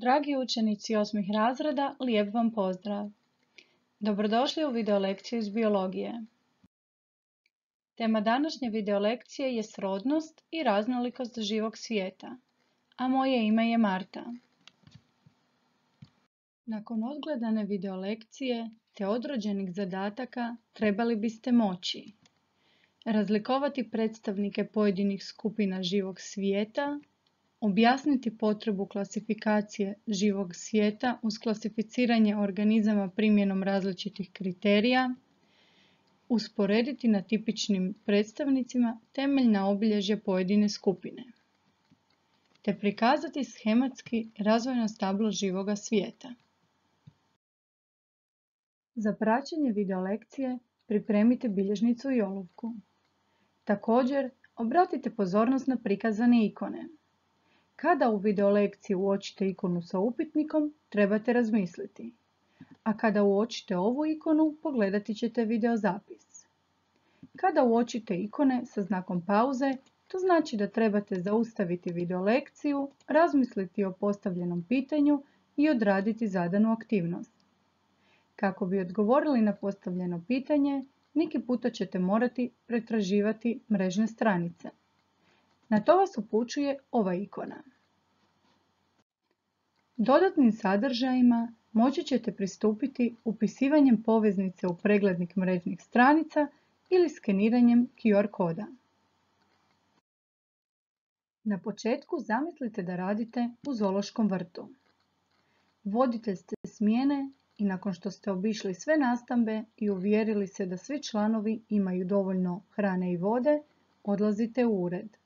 Dragi učenici 8. razreda, lijep vam pozdrav! Dobrodošli u videolekciju iz biologije. Tema današnje videolekcije je srodnost i raznolikost živog svijeta, a moje ime je Marta. Nakon odgledane videolekcije te odrađenih zadataka trebali biste moći razlikovati predstavnike pojedinih skupina živog svijeta, objasniti potrebu klasifikacije živog svijeta uz klasificiranje organizama primjenom različitih kriterija, usporediti na tipičnim predstavnicima temeljna obilježja pojedine skupine, te prikazati shematski razvojno stablo živoga svijeta. Za praćenje videolekcije pripremite bilježnicu i olovku. Također, obratite pozornost na prikazane ikone. Kada u videolekciji uočite ikonu sa upitnikom, trebate razmisliti. A kada uočite ovu ikonu, pogledati ćete videozapis. Kada uočite ikone sa znakom pauze, to znači da trebate zaustaviti videolekciju, razmisliti o postavljenom pitanju i odraditi zadanu aktivnost. Kako bi odgovorili na postavljeno pitanje, neki puta ćete morati pretraživati mrežne stranice. Na to vas upućuje ova ikona. Dodatnim sadržajima moći ćete pristupiti upisivanjem poveznice u preglednik mrežnih stranica ili skeniranjem QR koda. Na početku zamislite da radite u zoološkom vrtu. Voditelj ste smjene i nakon što ste obišli sve nastambe i uvjerili se da svi članovi imaju dovoljno hrane i vode, odlazite u ured.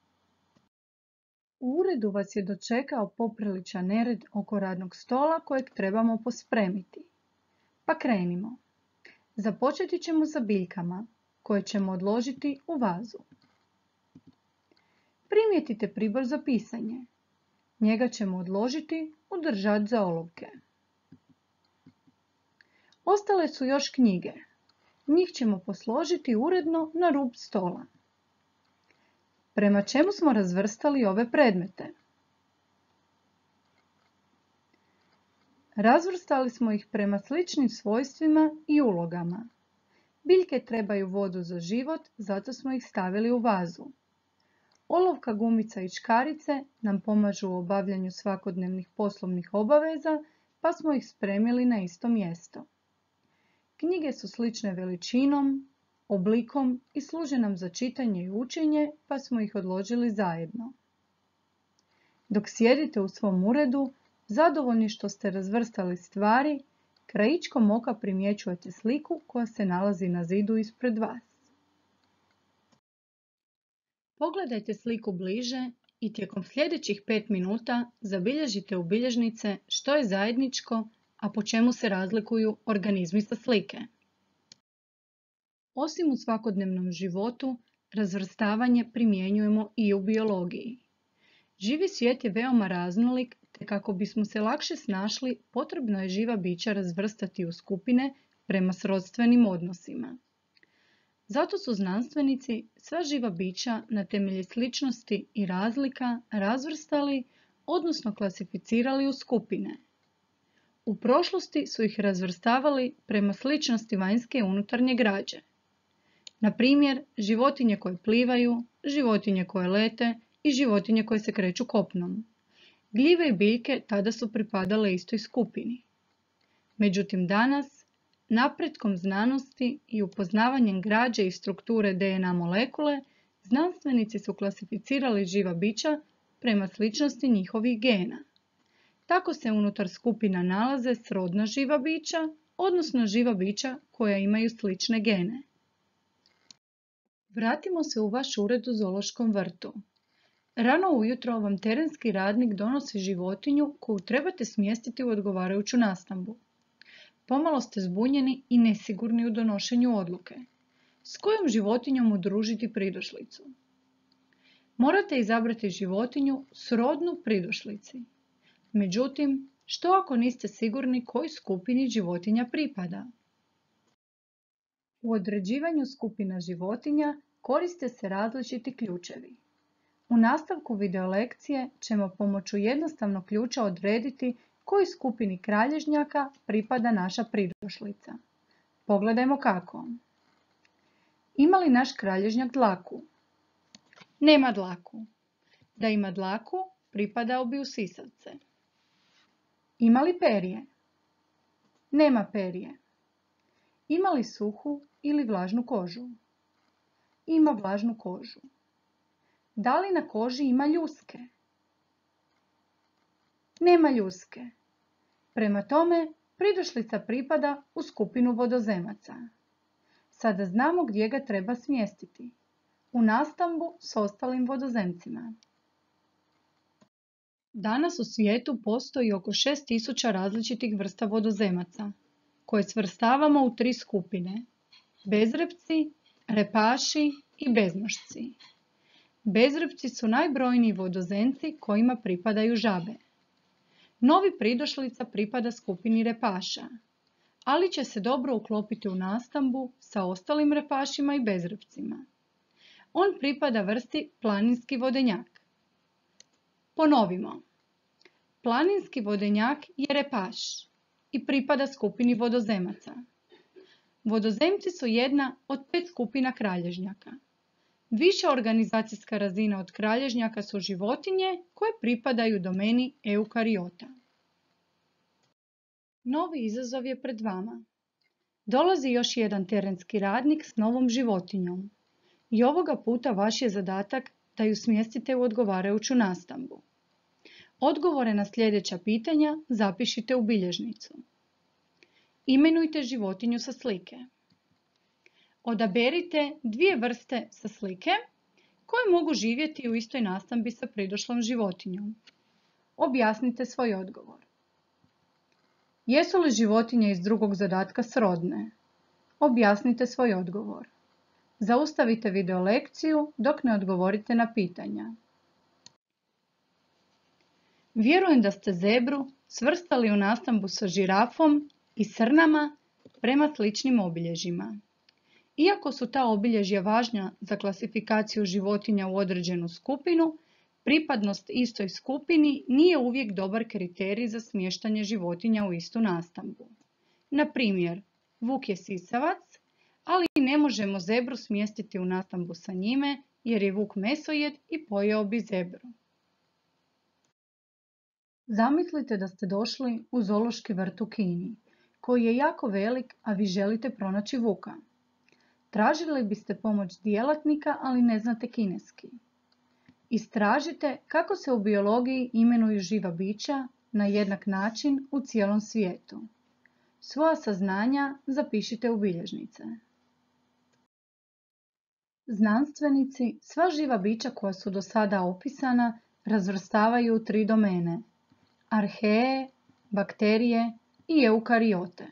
U uredu vas je dočekao popriličan nered oko radnog stola kojeg trebamo pospremiti. Pa krenimo. Započeti ćemo sa biljkama koje ćemo odložiti u vazu. Primijetite pribor za pisanje. Njega ćemo odložiti u držač za olovke. Ostale su još knjige. Njih ćemo posložiti uredno na rub stola. Prema čemu smo razvrstali ove predmete? Razvrstali smo ih prema sličnim svojstvima i ulogama. Biljke trebaju vodu za život, zato smo ih stavili u vazu. Olovka, gumica i škarice nam pomažu u obavljanju svakodnevnih poslovnih obaveza, pa smo ih spremili na isto mjesto. Knjige su slične veličinom, oblikom i služe nam za čitanje i učenje, pa smo ih odložili zajedno. Dok sjedite u svom uredu, zadovoljni što ste razvrstali stvari, krajičkom oka primjećujete sliku koja se nalazi na zidu ispred vas. Pogledajte sliku bliže i tijekom sljedećih 5 minuta zabilježite u bilježnice što je zajedničko, a po čemu se razlikuju organizmi sa slike. Osim u svakodnevnom životu, razvrstavanje primjenjujemo i u biologiji. Živi svijet je veoma raznolik, te kako bismo se lakše snašli, potrebno je živa bića razvrstati u skupine prema srodstvenim odnosima. Zato su znanstvenici sva živa bića na temelju sličnosti i razlika razvrstali, odnosno klasificirali u skupine. U prošlosti su ih razvrstavali prema sličnosti vanjske i unutarnje građe. Na primjer, životinje koje plivaju, životinje koje lete i životinje koje se kreću kopnom. Gljive i biljke tada su pripadale istoj skupini. Međutim, danas, napretkom znanosti i upoznavanjem građe i strukture DNA molekule, znanstvenici su klasificirali živa bića prema sličnosti njihovih gena. Tako se unutar skupina nalaze srodna živa bića, odnosno živa bića koja imaju slične gene. Vratimo se u vaš ured u zoološkom vrtu. Rano ujutro vam terenski radnik donosi životinju koju trebate smjestiti u odgovarajuću nastambu. Pomalo ste zbunjeni i nesigurni u donošenju odluke. S kojom životinjom udružiti pridošlicu? Morate izabrati životinju srodnu pridošlici. Međutim, što ako niste sigurni kojoj skupini životinja pripada? U određivanju skupina životinja koriste se različiti ključevi. U nastavku videolekcije ćemo pomoću jednostavnog ključa odrediti Kojoj skupini kralježnjaka pripada naša pridošlica? Pogledajmo kako. Ima li naš kralježnjak dlaku? Nema dlaku. Da ima dlaku, pripadao bi u sisavce. Ima li perje? Nema perje. Ima li suhu ili vlažnu kožu? Ima vlažnu kožu. Da li na koži ima ljuske? Nema ljuske. Prema tome, pridošlica pripada u skupinu vodozemaca. Sada znamo gdje ga treba smjestiti. U nastambu s ostalim vodozemcima. Danas u svijetu postoji oko 6000 različitih vrsta vodozemaca, koje svrstavamo u 3 skupine: bezrepci, repaši i beznošci. Bezrepci su najbrojniji vodozemci kojima pripadaju žabe. Novi pridošlica pripada skupini repaša, ali će se dobro uklopiti u nastambu sa ostalim repašima i bezrepcima. On pripada vrsti planinski vodenjak. Ponovimo. Planinski vodenjak je repaš i pripada skupini vodozemaca. Vodozemci su jedna od 5 skupina kralježnjaka. Viša organizacijska razina od kralježnjaka su životinje koje pripadaju domeni eukariota. Novi izazov je pred vama. Dolazi još jedan terenski radnik s novom životinjom. I ovoga puta vaš je zadatak da ju smjestite u odgovarajuću nastambu. Odgovore na sljedeća pitanja zapišite u bilježnicu. Imenujte životinju sa slike. Odaberite 2 vrste sa slike koje mogu živjeti u istoj nastambi sa pridošlom životinjom. Objasnite svoj odgovor. Jesu li životinje iz drugog zadatka srodne? Objasnite svoj odgovor. Zaustavite video lekciju dok ne odgovorite na pitanja. Vjerujem da ste zebru svrstali u nastambu sa žirafom i srnama prema sličnim obilježjima. Iako su ta obilježja važna za klasifikaciju životinja u određenu skupinu, pripadnost istoj skupini nije uvijek dobar kriterij za smještanje životinja u istu nastambu. Na primjer, vuk je sisavac, ali ne možemo zebru smjestiti u nastambu sa njime jer je vuk mesojed i pojeo bi zebru. Zamislite da ste došli u zoološki vrt u Kini, koji je jako velik, a vi želite pronaći vuka. Tražili biste pomoć djelatnika, ali ne znate kineski. Istražite kako se u biologiji imenuju živa bića na jednak način u cijelom svijetu. Svoja saznanja zapišite u bilježnice. Znanstvenici sva živa bića koja su do sada opisana razvrstavaju u 3 domene: arhee, bakterije i eukariote.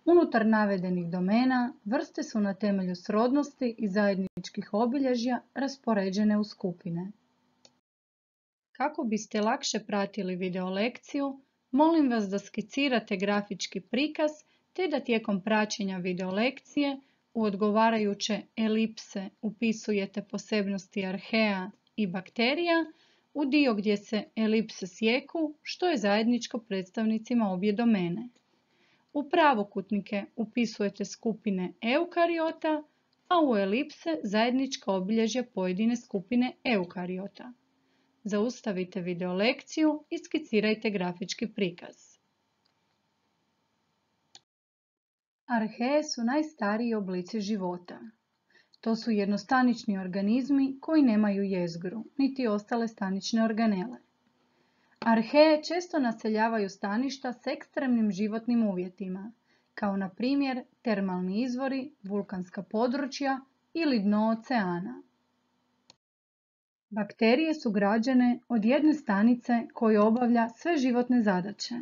Unutar navedenih domena vrste su na temelju srodnosti i zajedničkih obilježja raspoređene u skupine. Kako biste lakše pratili video lekciju, molim vas da skicirate grafički prikaz te da tijekom praćenja video lekcije u odgovarajuće elipse upisujete posebnosti arhea i bakterija u dio gdje se elipse sjeku, što je zajedničko predstavnicima obje domene. U pravokutnike upisujete skupine eukariota, a u elipse zajednička obilježja pojedine skupine eukariota. Zaustavite video lekciju i skicirajte grafički prikaz. Arhee su najstariji oblici života. To su jednostanični organizmi koji nemaju jezgru, niti ostale stanične organele. Arhee često naseljavaju staništa s ekstremnim životnim uvjetima, kao na primjer termalni izvori, vulkanska područja ili dno oceana. Bakterije su građene od jedne stanice koja obavlja sve životne zadaće.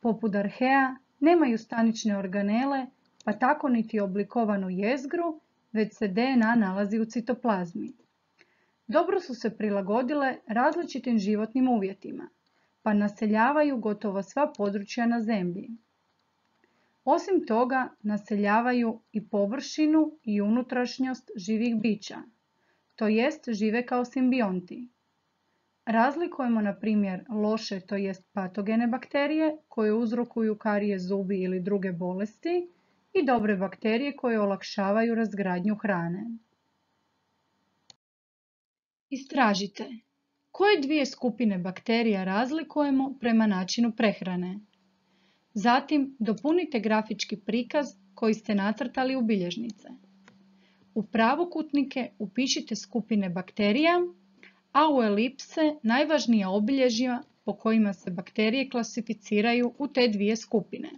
Poput arhea nemaju stanične organele, pa tako niti oblikovanu jezgru, već se DNA nalazi u citoplazmi. Dobro su se prilagodile različitim životnim uvjetima, pa naseljavaju gotovo sva područja na zemlji. Osim toga, naseljavaju i površinu i unutrašnjost živih bića, to jest žive kao simbionti. Razlikujemo, na primjer, loše, to jest patogene bakterije koje uzrokuju karije zubi ili druge bolesti i dobre bakterije koje olakšavaju razgradnju hrane. Istražite koje dvije skupine bakterija razlikujemo prema načinu prehrane. Zatim dopunite grafički prikaz koji ste nacrtali u bilježnice. U pravokutnike upišite skupine bakterija, a u elipse najvažnija obilježja po kojima se bakterije klasificiraju u te dvije skupine.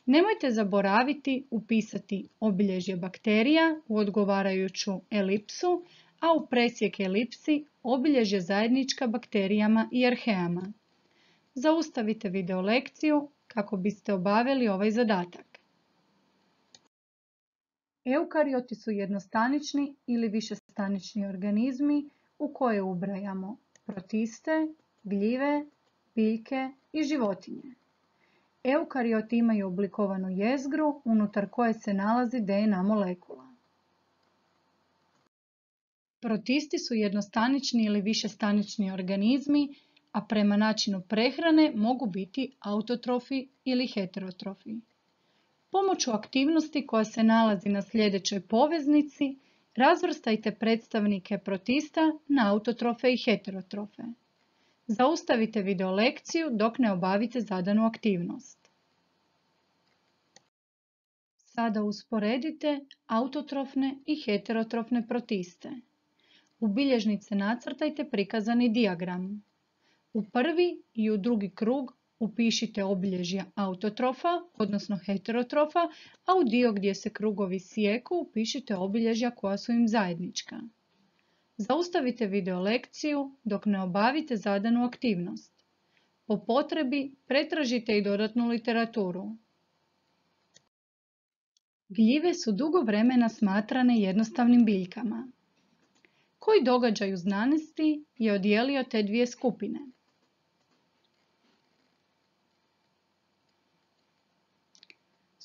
Nemojte zaboraviti upisati obilježje bakterija u odgovarajuću elipsu, a u presjek elipsi obilježje zajednička bakterijama i arheama. Zaustavite video lekciju kako biste obavili ovaj zadatak. Eukarioti su jednostanični ili višestanični organizmi u koje ubrajamo protiste, gljive, biljke i životinje. Eukarioti imaju oblikovanu jezgru unutar koje se nalazi DNA molekula. Protisti su jednostanični ili višestanični organizmi, a prema načinu prehrane mogu biti autotrofi ili heterotrofi. Pomoću aktivnosti koja se nalazi na sljedećoj poveznici, razvrstajte predstavnike protista na autotrofe i heterotrofe. Zaustavite video lekciju dok ne obavite zadanu aktivnost. Sada usporedite autotrofne i heterotrofne protiste. U bilježnice nacrtajte prikazani dijagram. U prvi i u drugi krug upišite obilježja autotrofa, odnosno heterotrofa, a u dio gdje se krugovi sijeku upišite obilježja koja su im zajednička. Zaustavite video lekciju dok ne obavite zadanu aktivnost. Po potrebi pretražite i dodatnu literaturu. Gljive su dugo vremena smatrane jednostavnim biljkama. Koji događaj u znanosti je odijelio te dvije skupine?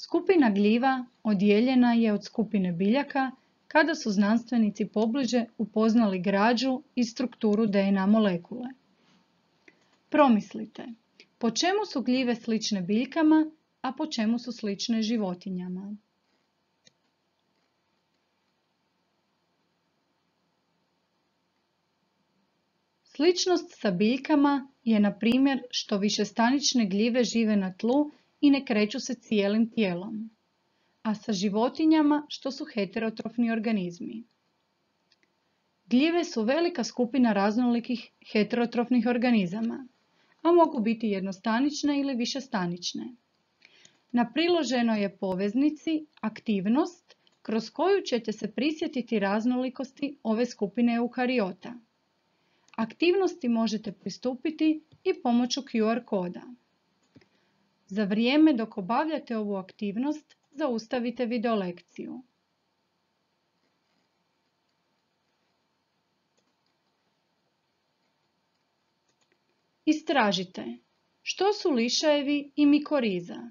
Skupina gljiva odijeljena je od skupine biljaka kada su znanstvenici pobliže upoznali građu i strukturu DNA molekule. Promislite, po čemu su gljive slične biljkama, a po čemu su slične životinjama? Sličnost sa biljkama je, na primjer, što višestanične gljive žive na tlu i ne kreću se cijelim tijelom, a sa životinjama što su heterotrofni organizmi. Gljive su velika skupina raznolikih heterotrofnih organizama, a mogu biti jednostanične ili višestanične. Na priloženoj je poveznici aktivnost kroz koju ćete se prisjetiti raznolikosti ove skupine eukariota. Aktivnosti možete pristupiti i pomoću QR koda. Za vrijeme dok obavljate ovu aktivnost, zaustavite video lekciju. Istražite što su lišajevi i mikoriza.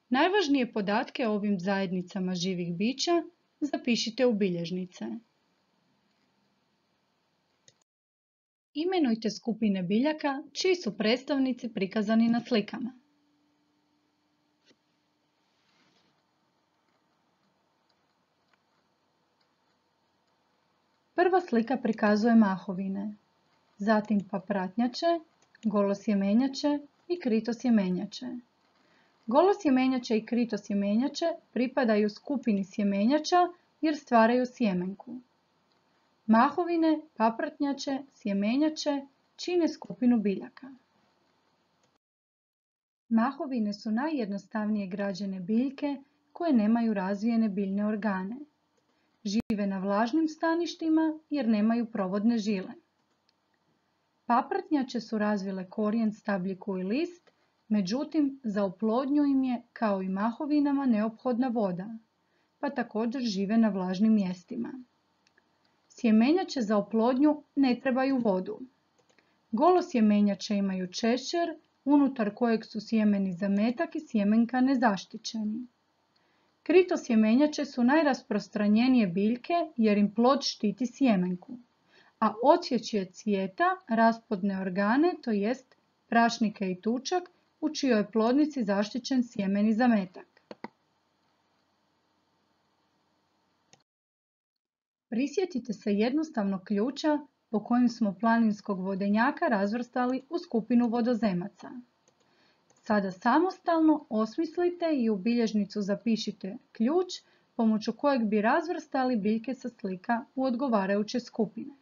Najvažnije podatke o ovim zajednicama živih bića zapišite u bilježnice. Imenujte skupine biljaka čiji su predstavnici prikazani na slikama. Prva slika prikazuje mahovine, zatim papratnjače, golosjemenjače i kritosjemenjače. Golosjemenjače i kritosjemenjače pripadaju skupini sjemenjača jer stvaraju sjemenku. Mahovine, papratnjače, sjemenjače čine skupinu biljaka. Mahovine su najjednostavnije građene biljke koje nemaju razvijene biljne organe. Žive na vlažnim staništima jer nemaju provodne žile. Papratnjače su razvile korijen, stabljiku i list, međutim za oplodnju im je, kao i mahovinama, neophodna voda, pa također žive na vlažnim mjestima. Sjemenjače za oplodnju ne trebaju vodu. Golosjemenjače imaju češćer, unutar kojeg su sjemeni zametak i sjemenka nezaštićeni. Kritosjemenjače su najrasprostranjenije biljke jer im plod štiti sjemenku, a odsječje cvijeta rasplodne organe, to jest prašnike i tučak, u čijoj je plodnici zaštićen sjemeni zametak. Prisjetite se jednostavnog ključa po kojem smo planinskog vodenjaka razvrstali u skupinu vodozemaca. Sada samostalno osmislite i u bilježnicu zapišite ključ pomoću kojeg bi razvrstali biljke sa slika u odgovarajuće skupine.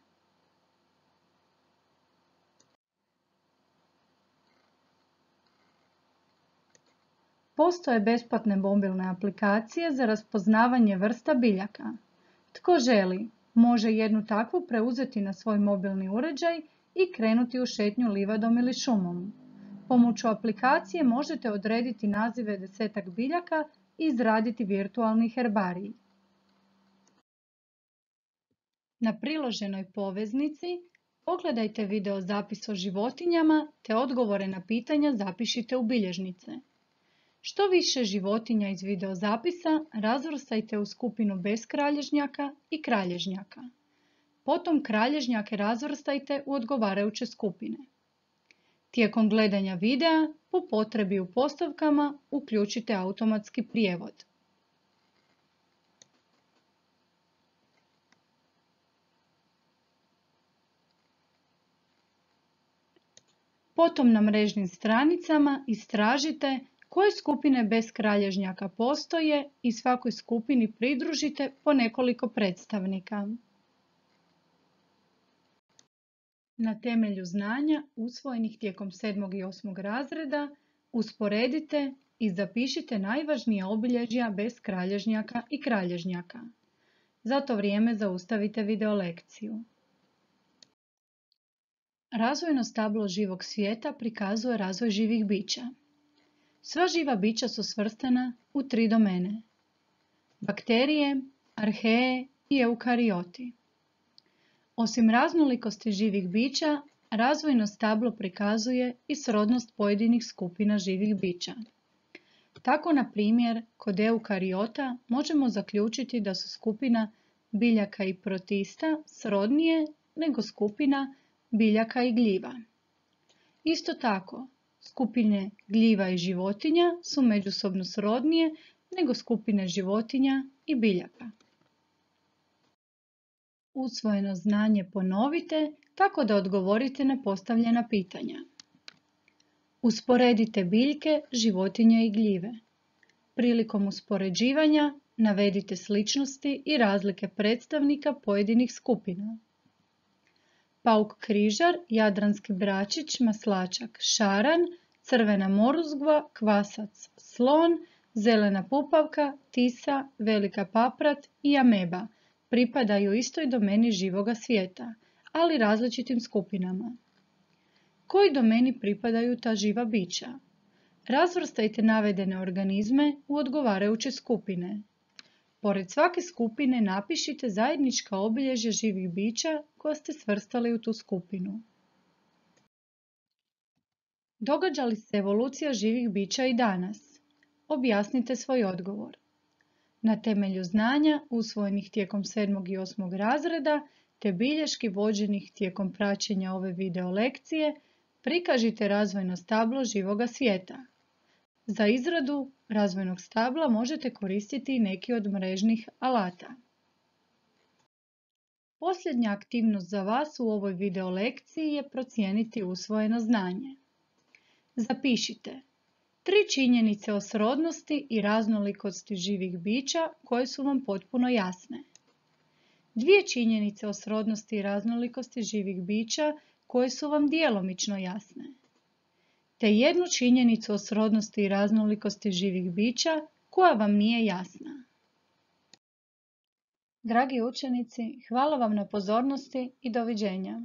Postoje besplatne mobilne aplikacije za raspoznavanje vrsta biljaka. Tko želi, može jednu takvu preuzeti na svoj mobilni uređaj i krenuti u šetnju livadom ili šumom. Pomoću aplikacije možete odrediti nazive 10-ak biljaka i izraditi virtualni herbarij. Na priloženoj poveznici pogledajte video zapis o životinjama te odgovore na pitanja zapišite u bilježnice. Što više životinja iz videozapisa razvrstajte u skupinu bez kralježnjaka i kralježnjaka. Potom kralježnjake razvrstajte u odgovarajuće skupine. Tijekom gledanja videa, po potrebi u postavkama, uključite automatski prijevod. Potom na mrežnim stranicama istražite koje skupine bez kralježnjaka postoje i svakoj skupini pridružite po nekoliko predstavnika. Na temelju znanja usvojenih tijekom 7. i 8. razreda usporedite i zapišite najvažnija obilježja bez kralježnjaka i kralježnjaka. Za to vrijeme zaustavite video lekciju. Razvojno stablo živog svijeta prikazuje razvoj živih bića. Sva živa bića su svrstana u 3 domene: bakterije, arheje i eukarioti. Osim raznolikosti živih bića, razvojno stablo prikazuje i srodnost pojedinih skupina živih bića. Tako, na primjer, kod eukariota možemo zaključiti da su skupina biljaka i protista srodnije nego skupina biljaka i gljiva. Isto tako, skupine gljiva i životinja su međusobno srodnije nego skupine životinja i biljaka. Usvojeno znanje ponovite tako da odgovorite na postavljena pitanja. Usporedite biljke, životinje i gljive. Prilikom uspoređivanja navedite sličnosti i razlike predstavnika pojedinih skupina. Pauk križar, jadranski bračić, maslačak, šaran, crvena moruzgva, kvasac, slon, zelena pupavka, tisa, velika paprat i ameba pripadaju istoj domeni živoga svijeta, ali različitim skupinama. Koji domeni pripadaju ta živa bića? Razvrstajte navedene organizme u odgovarajuće skupine. Pored svake skupine napišite zajednička obilježja živih bića koja ste svrstali u tu skupinu. Događa li se evolucija živih bića i danas? Objasnite svoj odgovor. Na temelju znanja usvojenih tijekom 7. i 8. razreda te bilješki vođenih tijekom praćenja ove video lekcije, prikažite razvojno stablo živoga svijeta. Za izradu razvojnog stabla možete koristiti i neki od mrežnih alata. Posljednja aktivnost za vas u ovoj video lekciji je procijeniti usvojeno znanje. Zapišite 3 činjenice o srodnosti i raznolikosti živih bića koje su vam potpuno jasne. 2 činjenice o srodnosti i raznolikosti živih bića koje su vam djelomično jasne. Te 1 činjenicu o srodnosti i raznolikosti živih bića koja vam nije jasna. Dragi učenici, hvala vam na pozornosti i doviđenja.